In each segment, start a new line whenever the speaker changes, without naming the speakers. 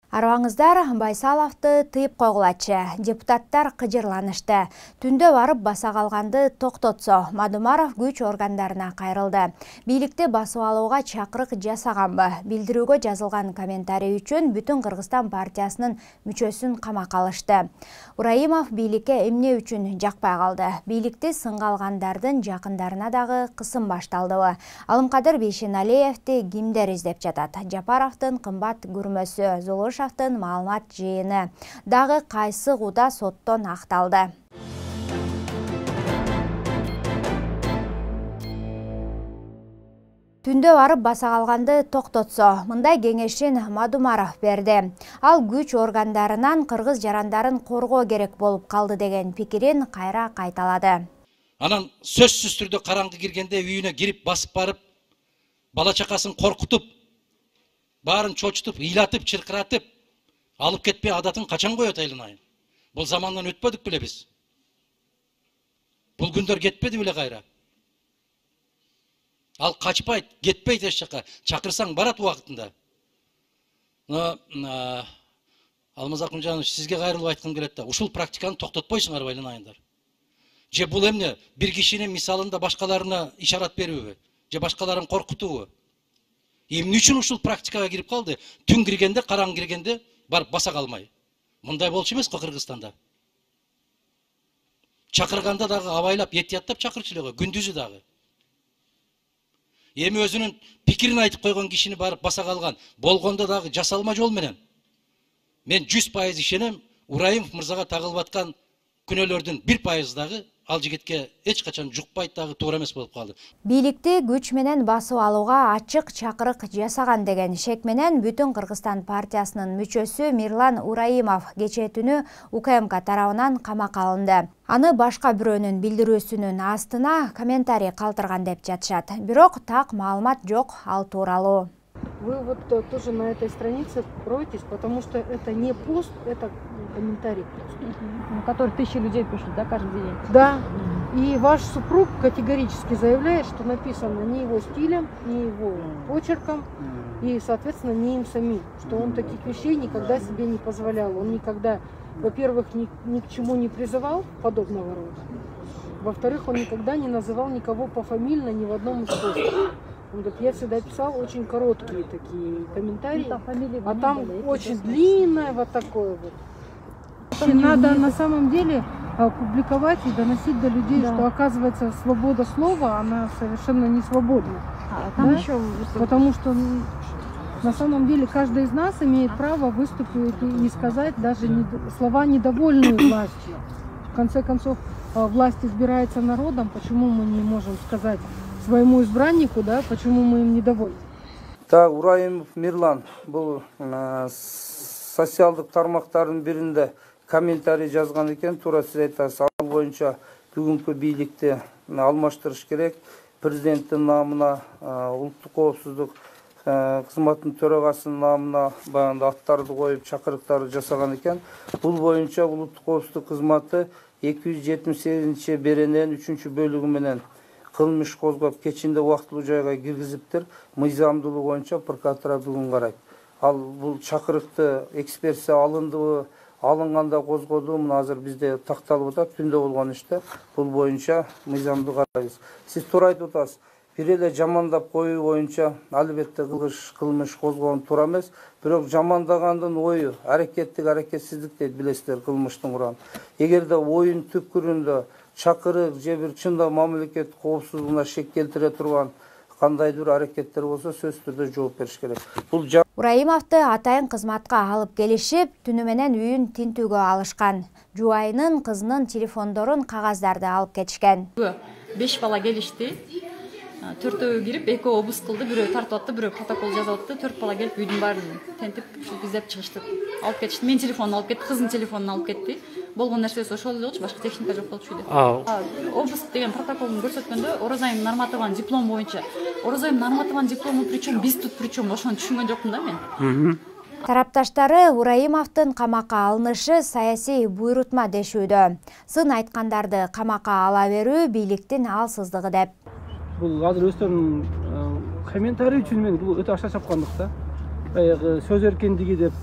Арбаңыздар Байсаловду тыйып койгулачы. Депутаттар кыжырланышты. Түндө барып баса калганды токтотсо, Мадумаров күч органдарына кайрылды. Бийликти басып алууга чакырык жасаганбы? Билдирүүгө жазылган комментарий үчүн Бүтүн Кыргызстан партиясынын мүчөсүн камакка алышты. Ураимов бийликке эмне үчүн жакпай калды? Бийликти сынга алгандардын жакындарына дагы кысым башталдыбы? Алымкадыр Бейшеналиевди кимдер издеп жатат? Жапаровдун кымбат көрмөсү, Зулушевдин маалымат жыйыны дагы кайсы куда соттон акталды. Түндө барып баса калганды токтотсо, мындай кеңешин Мадумаров берди. Ал күч органдарынан кыргыз жарандарын коргоо керек болуп калды деген пикирин кайра кайталады.
Анан сөзсүз түрдө караңгы киргенде үйүнө кирип басып барып, бала чакасын коркутуп, баарын чочутуп, ыйлатып, чыркыратып, алып кетпей адатын качан коет айланайын? Бул замандан өтпөдүк беле биз? Бул күндөр кетпеди беле кайра? Ал качпайт, кетпейт эч жака. Чакырсаң барат убактында. Алмаз Акунжанович, сизге кайрылып айткым келет да, ушул практиканы токтотпойсуңарбы айланайындар? Же бул эмне бир кишинин мисалында башкаларына ишарат берүүбү? Же башкаларын коркутуубу? Эмне үчүн ушул практикага кирип калды? Түн киргенде, караң киргенде барып баса калмай. Мындай болчу эмес го Кыргызстанда. Чакырганда дагы абайлап, этияттап чакырчу эле го, күндүзү дагы. Эми өзүнүн пикирин айтып койгон кишини барып баса калган болгондо дагы жасалма жол менен. Мен 100% ишенем, Ураимов мырзага тагылып аткан күнөөлөрдүн 1% дагы ал жигитке эч качан жукпайт, дагы туура эмес болуп калды.
Бийликти күч менен басып алууга ачык чакырык жасаган деген шек менен Бүтүн Кыргызстан партиясынын мүчөсү Мирлан Ураимов кечээ түнү УКМК тарабынан камакка алынды. Аны башка бирөөнүн билдирүүсүнүн астына комментарий калтырган деп жатышат. Бирок так маалымат жок ал тууралуу.
Вы вот тоже на этой странице кроетесь, потому что это не пост, это комментарий,
который 1000 людей пишут, да, каждый день.
Да. И ваш супруг категорически заявляет, что написано не его стилем, не его почерком, и, соответственно, не им самим, что он таких вещей никогда себе не позволял. Он никогда, во-первых, ни к чему не призывал подобного рода. Во-вторых, он никогда не называл никого пофамильно ни в одном из постов. Он говорит, я всегда писал очень короткие такие комментарии, а там очень длинное вот такое вот. Надо на самом деле публиковать и доносить до людей, да, что оказывается свобода слова, она совершенно не свободна. Там да? Еще... Потому что на самом деле каждый из нас имеет право выступить и сказать даже слова, недовольные властью. В конце концов, власть избирается народом, почему мы не можем сказать своему избраннику, да, почему мы им недовольны?
Так, Ураимов Мирлан был социалдык тармактардын биринде комментарий жазган экен, туура сиз айтасыз, ал боюнча бүгүнкү бийликти алмаштырыш керек, президенттин намына, улуттук коопсуздук кызматынын төрагасынын намына баягы аттарды коюп чакырыктарды жасаган экен. Бул боюнча улуттук коопсуздук кызматы 278-берененин 3-бөлүгү менен кылмыш козгоп кечинде убактылуу жайга киргизиптир. Мыйзамдуулугу боюнча прокуратура бүгүн карайт. Ал бул чакырыкты экспертиза алындыбы, алынганда козгоду, мына азыр бизде такталып атат, түндө болгон иште. Бул боюнча мыйзамдуу карайбыз. Сиз туура айтып атасыз. Бир эле жамандап коюу боюнча албетте кылмыш козгоон туура эмес. Бирок жамандагандын ою, аракетсиздик дейт, билесиздер, кылмыштын курамы. Эгерде оюн түпкүрүндө чакырык же бир чында мамлекет коопсуздугуна шек келтире турган кандайдыр аракеттер болсо сөзсүз түрдө жооп бериш керек. Бул
Ураимовду атайын кызматка алып келишип, түнү менен үйүн тинтүүгө алышкан. Жубайынын, кызынын телефондорун, кагаздарды алып кетишкен.
5 бала келишти. 4-өө кирип, 2 обыск кылды, бирөө тартып атты, бирөө протокол жазып атты. 4 бала келип үйдүн баарын тентип, издеп чыгышты. Алып кетишти. Мен телефонун алып кетти, кыздын телефонун алып кетти. Болгон нерсеси ошол эле болчу, башка техника жок болчу үйдө. Обыск деген протоколун көрсөткөндө Оразайым Нарматованын диплому боюнча. Оразайым Нарматованын диплому причем, биз тут причем, ошону түшүнгөн жокмун да мен.
Тарапташтары Ураимовдун камакка алынышы саясий буйрутма дешүүдө. Сын айткандарды камакка ала берүү бийликтин алсыздыгы деп.
Бул азыр өздөрүнүн комментарий үчүн мен бул өтө акча чапкандык да. Баягы сөз эркиндиги деп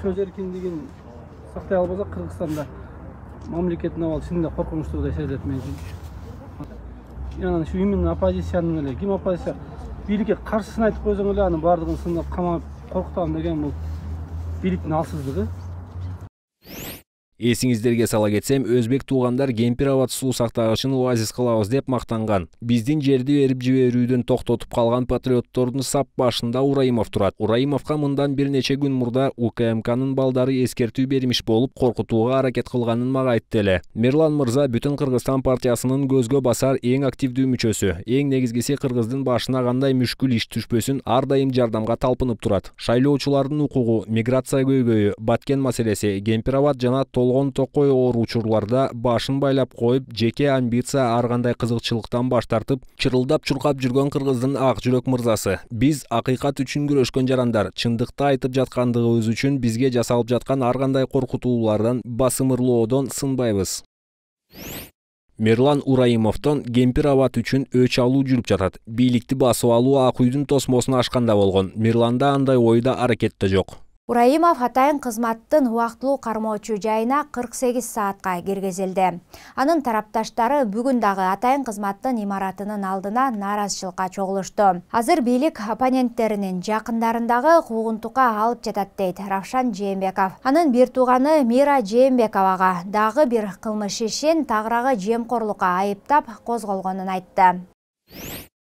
сөз эркиндигин сактай албасак Кыргызстанда мамлекеттин абалы чынында коркунучтуудай сезилет мен үчүн. Анан ушу именно оппозициянын эле ким оппозиция бийликке каршысын айтып койсоң эле анын баардыгын сындап камап коркутам деген бул бийликтин алсыздыгы.
Эсиңиздерге сала кетсем, өзбек туугандар Кемпир-Абад суу сактагычын оазис кылабыз деп мактанган. Биздин жерди берип жиберүүдөн токтотуп калган патриоттордун сап башында Ураимов турат. Ураимовго мындан бир нече күн мурда УКМКнын балдары эскертүү бермиш болуп, коркутууга аракет кылганын мага айтты эле. Мирлан мырза Бүтүн Кыргызстан партиясынын көзгө басар эң активдүү мүчөсү. Эң негизгиси Кыргыздын башына кандай мүшкүл иш түшпөсүн ар дайым жардамга талпынып турат. Шайлоочулардын укугу, миграция көйгөйү, Баткен маселеси, Кемпир-Абад жана толгон токой оор учурларда башын байлап коюп, жеке амбиция ар кандай кызыкчылыктан баш тартып, чырылдап чуркап жүргөн Кыргыздын ак жүрөк мырзасы. Биз акыйкат үчүн күрөшкөн жарандар, чындыкты айтып жаткандыгыбыз үчүн бизге жасалып жаткан ар кандай коркутуулардан, басымырлоодон сынбайбыз. Мирлан Ураимовдон Кемпир-Абад үчүн өч алуу жүрүп жатат. Бийликти басып алуу Ак үйдүн тосмосуна ашканда болгон. Мирланда андай ойда аракетте жок.
Ураимов атайын кызматтын убактылуу кармоочу жайына 48 саатка киргизилди. Анын тарапташтары бүгүн дагы атайын кызматтын имаратынын алдына нааразычылыкка чогулушту. Азыр бийлик оппоненттеринин жакындарындагы куугунтукка алып жатат дейт Равшан Жээнбеков. Анын бир тууганы Мира Жээнбековага дагы бир кылмыш ишин тагыраагы жемкорлукка айыптап козголгонун айтты.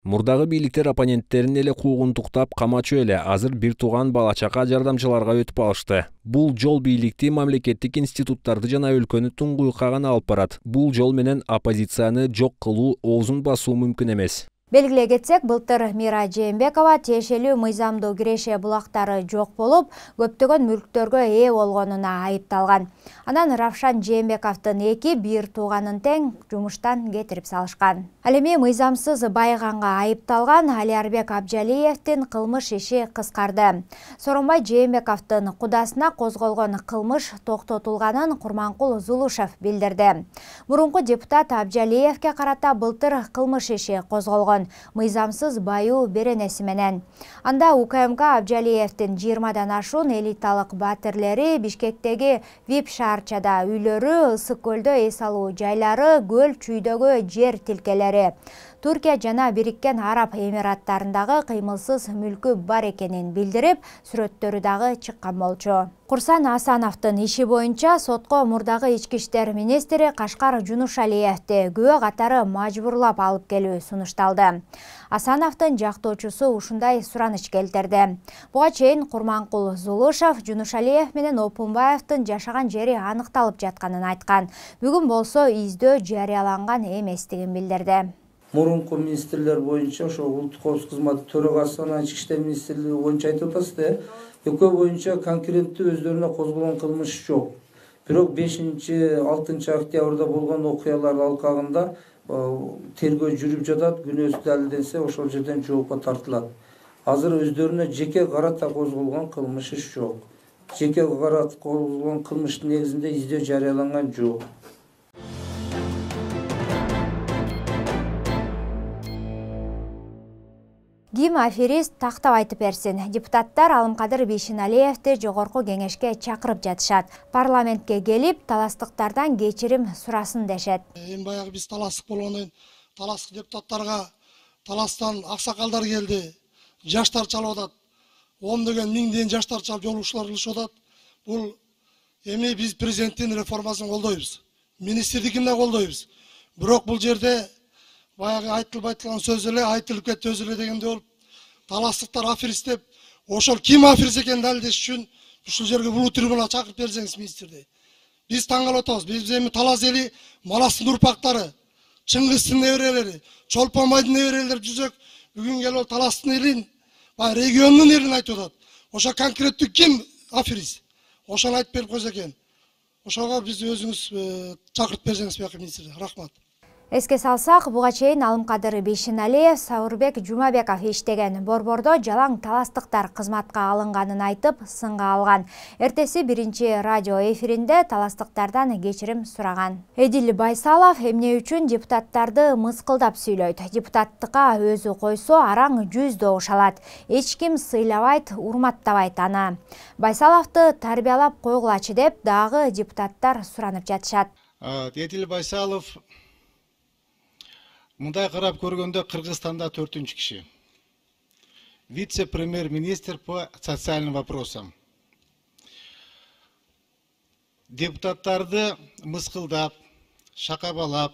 Мурдагы бийликтер оппоненттерин эле куугунтуктап камачу эле, азыр бир тууган бала-чака жардамчыларга өтүп алышты. Бул жол бийликти, мамлекеттик институттарды жана өлкөнү туңгуюкка гана алып барат. Бул жол менен оппозицияны жок кылуу, оозун басуу мүмкүн эмес.
Белгилей кетсек, былтыр Мира Жээнбекова тиешелүү мыйзамдуу киреше булактары жок болуп, көптөгөн мүлктөргө ээ болгонуна айыпталган. Анан Равшан Жээнбековдун бир тууганын тең жумуштан кетирип салышкан. Ал эми мыйзамсыз байыганга айыпталган Алиарбек Абжалиевдин кылмыш иши кыскарды. Сооронбай Жээнбековдун кудасына козголгон кылмыш токтотулганын Курманкул Зулушев билдирди. Мурунку депутат Абжалиевге карата былтыр кылмыш иши козголгон. Мыйзамсыз байуу беренеси менен. Анда УКМК Абжалиевдин 20дан ашуун элиталык батирлери Бишкектеги VIP шаарчада үйлөрү, ысык көлдө эс алуу жайлары, көл чүйдөгү жер тилкелери, Туркия жана Бириккен Араб Эмираттарындагы кыймылсыз мүлкү бар экенин билдирип, сүрөттөрү дагы чыккан болчу. Курсан Асановдун иши боюнча сотко мурдагы ички иштер министри Кашкар Жунушалиевди күбө катары мажбурлап алып келүү сунушталды. Асановдун жактоочусу ушундай сураныч келтирди. Буга чейин Курманкул Зулушев Жунушалиев менен Опунбаевдин жашаган жери аныкталып жатканын айткан. Бүгүн болсо издөө жарыяланган эместигин билдирди.
Мурунку министрлер боюнча ошо улуттук коопсуздук кызматы төрагасы анан ички иштер министрлиги боюнча айтып атасыз да, экөө боюнча конкреттүү өздөрүнө козголгон кылмыш жок. Бирок 5-6 октябрда болгон окуялар алкагында тергөө жүрүп жатат, күнөөсү далилденсе ошол жерден жоопко тартылат. Азыр өздөрүнө жеке карата козголгон кылмыш иш жок. Жеке карата козголгон кылмыштын негизинде издөө жарыяланган жок.
Ким аферист тактап айтып берсин. Депутаттар Алымкадыр Бейшеналиевди жогорку кеңешке чакырып жатышат. Парламентке келип, таластыктардан кечирим сурасын дешет.
Эми баягы биз таластык болгондон таластык депутаттарга таластан аксакалдар келди. Жаштар чалып атат. 10 миңден жаштар чалып жолугушуулар кылышып атат. Бул эми биз президенттин реформасын колдойбуз. Министрдикин да колдойбуз. Бирок бул жерде баягы айтылып айтылган сөз эле айтылып кетти өзү эле дегенде болуп, таластыктар аферист деп, ошол ким аферист экенин далилдеш үчүн ушул жерге бул трибунага чакырып берсеңиз министрди. Биз таң калып атабыз. Биз эми Талас эли Маластын урпактары, Чыңгыздын неберелери, Чолпон байдын неберелери жүзөк бүгүн келип Таластын элин, баягы региондун элин айтып атат. Ошо конкреттүү ким аферист? Ошону айтып берип койсо экен. Ошого биз өзүңүз чакырып берсеңиз бияка министрди. Рахмат.
Эске салсак, буга чейин Алымкадыр Бейшеналиев, Сауырбек Жумабеков иштеген борбордо жалаң таластыктар кызматка алынганын айтып, сынга алган. Эртеси биринчи радио эфиринде таластыктардан кечирим сураган. Эдил Байсалов эмне үчүн депутаттарды мыскылдап сүйлөйт? Депутаттыкка өзү койсо араң 100 добуш алат. Эч ким сыйлабайт, урматтабайт аны. Байсаловду тарбиялап койгулачы деп дагы депутаттар суранып жатышат.
Эдил Байсалов мындай карап көргөндө Кыргызстанда 4-чү киши. Вице-премьер-министр по социальным вопросам. Депутаттарды мыскылдап, шакабалап,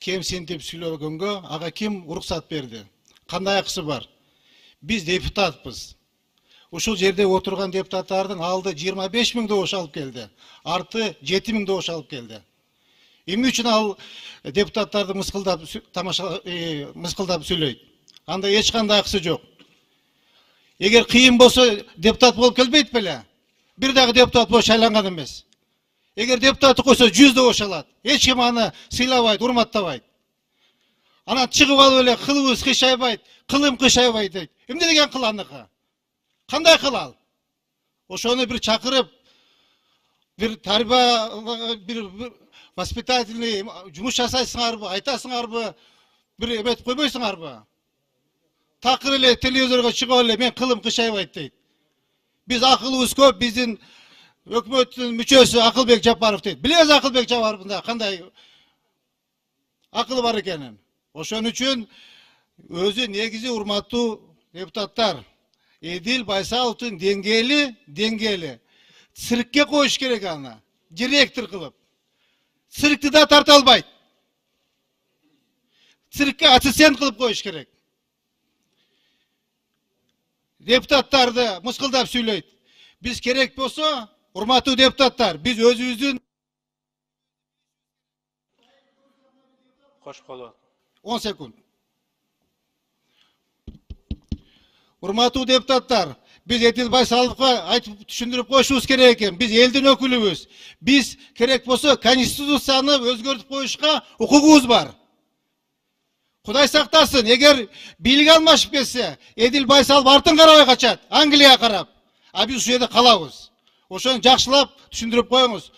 кемсинтип сүйлөгөнгө ага ким уруксат берди? Кандай акысы бар? Биз депутатпыз. Ушул жерде отурган депутаттардын алды 25 000 добуш алып келди. Арты 7 000 добуш алып келди. Эмне үчүн ал депутаттарды мыскылдап сүйлөйт? Анда эч кандай акысы жок. Эгер кыйын болсо депутат болуп келбейт беле? Бир дагы депутат болуп шайланган эмес. Эгер депутатты койсо 100 добуш алат. Эч ким аны сыйлабайт, урматтабайт. Анан чыгып алып эле кылыбыз кыйшайбайт, кылым кыйшайбайт дейт. Эмне деген кыл аныкы? Кандай кыл ал? Ошону бир чакырып, бир тарбия, бир воспитательный жумуш жасайсыңарбы, айтасыңарбы, бир эметип койбойсуңарбы? Такыр эле телевизорго чыгып эле мен кылым кыйшайбайт дейт. Биз акылыбыз көп, биздин өкмөттүн мүчөсү Акылбек Жапаров дейт. Билебиз Акылбек Жапаровдун кандай акылы бар экенин. Ошон үчүн өзү негизи урматтуу депутаттар, Эдил Байсаловдун деңгээли циркке коюш керек аны, директор кылып. Циркти да тарта албайт. Циркке ассистент кылып коюш керек. Депутаттарды мыскылдап сүйлөйт. Биз керек болсо, урматтуу депутаттар, биз өзүбүздүн 10 секунд. Урматтуу депутаттар, биз Эдил Байсаловго айтып түшүндүрүп коюшубуз керек экен. Биз элдин өкүлүбүз. Биз керек болсо конституцияны өзгөртүп коюшка укугубуз бар. Кудай сактасын, эгер бийлик алмашып кетсе, Эдил Байсалов артын карабай качат, Англияга карап. А биз ушул жерде калабыз. Ошону жакшылап түшүндүрүп коюңуз.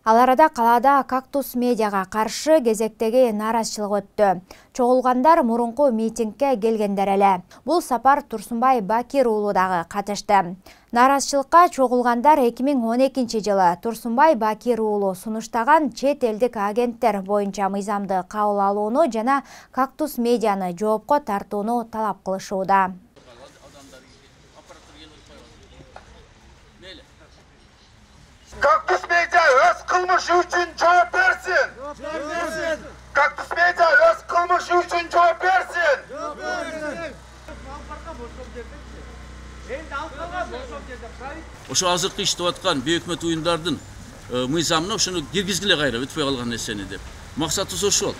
Ал арада калаада Кактус медиага каршы кезектеги нааразычылык өттү. Чогулгандар мурунку митингге келгендер эле. Бул сапар Турсунбай Бакир уулу дагы катышты. Нааразычылыкка чогулгандар 2012 жылы Турсунбай Бакир уулу сунуштаган чет элдик агенттер боюнча мыйзамды кабыл алууну жана Кактус медианы жоопко тартууну талап кылышууда.
Кактус медиа өз кылмышы үчүн жооп берсин. Кактус медиа өз кылмышы үчүн жооп берсин.
Ошо азыркы иштеп аткан бейөкмөт уюмдардын мыйзамына ошону киргизгиле кайра өтпөй калган нерсени деп. Максатыбыз ошол.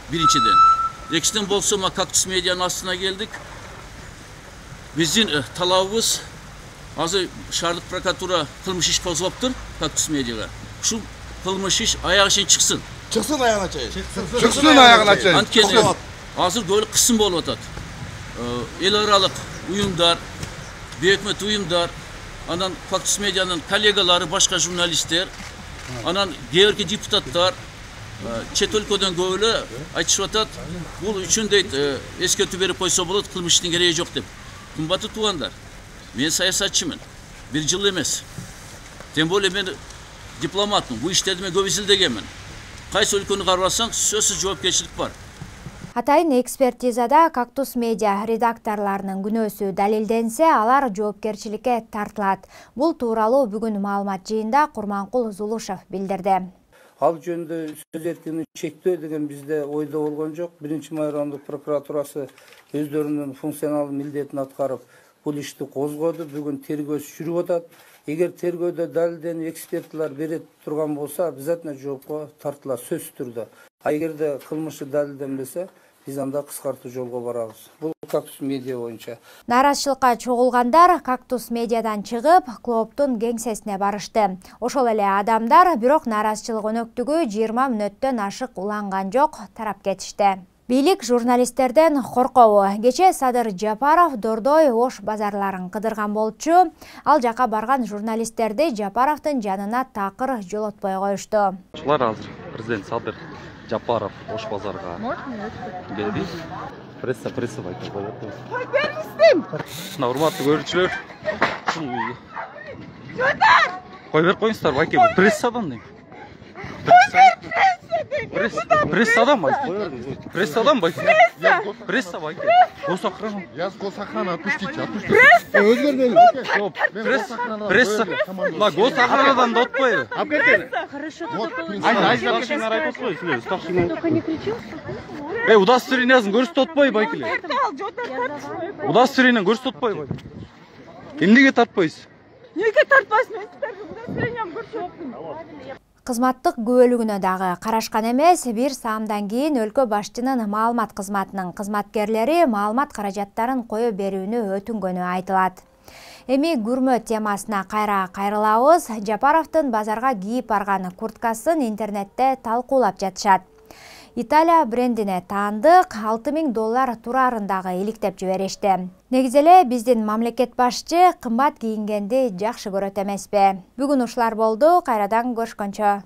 Биринчиден. Экинчиден болсо Кактус медианын астына келдик. Биздин талабыбыз азыр шаардык прокуратура кылмыш иш козгоптур Кактус медиага. Ушул кылмыш иш аягы чейин чыксын.
Чыксын аягына чейин.
Чыксын аягына чейин. Анткени азыр көп кысым болуп атат. Эл аралык уюмдар, бейөкмөт уюмдар, анан Кактус медианын коллегалары, башка журналисттер, анан кээ депутаттар чет өлкөдөн көп эле айтышып атат. Бул үчүн дейт эскертүү берип койсо болот, кылмыштын кереги жок деп. Кымбаттуу туугандар, мен саясатчымын. Бир жыл эмес. Тем более мен дипломатмын. Бул иштерди мен көп изилдегенмин. Кайсы өлкөнү карабасаң, сөзсүз жоопкерчилик бар.
Атайын экспертизада Кактус медиа редакторларынын күнөөсү далилденсе, алар жоопкерчиликке тартылат. Бул тууралуу бүгүн маалымат жыйында Курманкул Зулушев билдирди.
Ал жөнүндө сөз эркиндигин чектөө деген бизде ойдо болгон жок. 1-май райондук прокуратурасы өздөрүнүн функционалдык милдетин аткарып, бул ишти козгоду. Бүгүн тергөөсү жүрүп атат. Эгер тергөөдө далилденип экспертлер бере турган болсо, обязательно жоопко тартылат сөзсүз түрдө. А эгерде кылмышы далилденбесе, биз анда кыскартуу жолго барабыз. Бул Кактус медиа боюнча.
Нааразычылыкка чогулгандар Кактус медиадан чыгып, клубдун кеңсесине барышты. Ошол эле адамдар бирок нааразычылык өнөктүгү 20 мүнөттөн ашык уланган жок, тарап кетишти. Бийлик журналисттерден коркобу. Кече Садыр Жапаров Дордой Ош базарларын кыдырган болчу. Ал жака барган журналисттерди Жапаровдун жанына такыр жолотпой коюшту.
Ушулар азыр президент Садыр Жапаров Ош базарга келди. Пресса байкап коет. Кой берместим. Урматтуу көрүүчүлөр. Кой берип коюңуздар, байке, прессадан дейм. Прессадан байке. Прессадан байке. Пресса байке. Госохрана.
Я с госохраны отпустите.
Пресса. На госохранадан да отпойбу.
Хорошо.
Только не кричи. Удостоверениесин көрсөтүп отпой байкеле. Удостоверениени көрсөтүп отпойбу. Эмнеге тартпайсыз?
Неге тартпайсың? Мен силерге удостоверениямды көрсөттүм.
Кызматтык күбөлүгүнө дагы карашкан эмес. Бир саамдан кийин өлкө башчынын маалымат кызматынын кызматкерлери маалымат каражаттарын кое берүүнү өтүнгөнү айтылат. Эми күрмө темасына кайрылабыз. Жапаровдун базарга кийип барган курткасын интернетте талкуулап жатышат. Италия брендине таандык $6000 турарындагы иликтеп жиберишти. Негизи эле биздин мамлекет башчы кымбат кийингенди жакшы көрөт эмеспи? Бүгүн ушулар болду. Кайрадан көрүшкөнчө.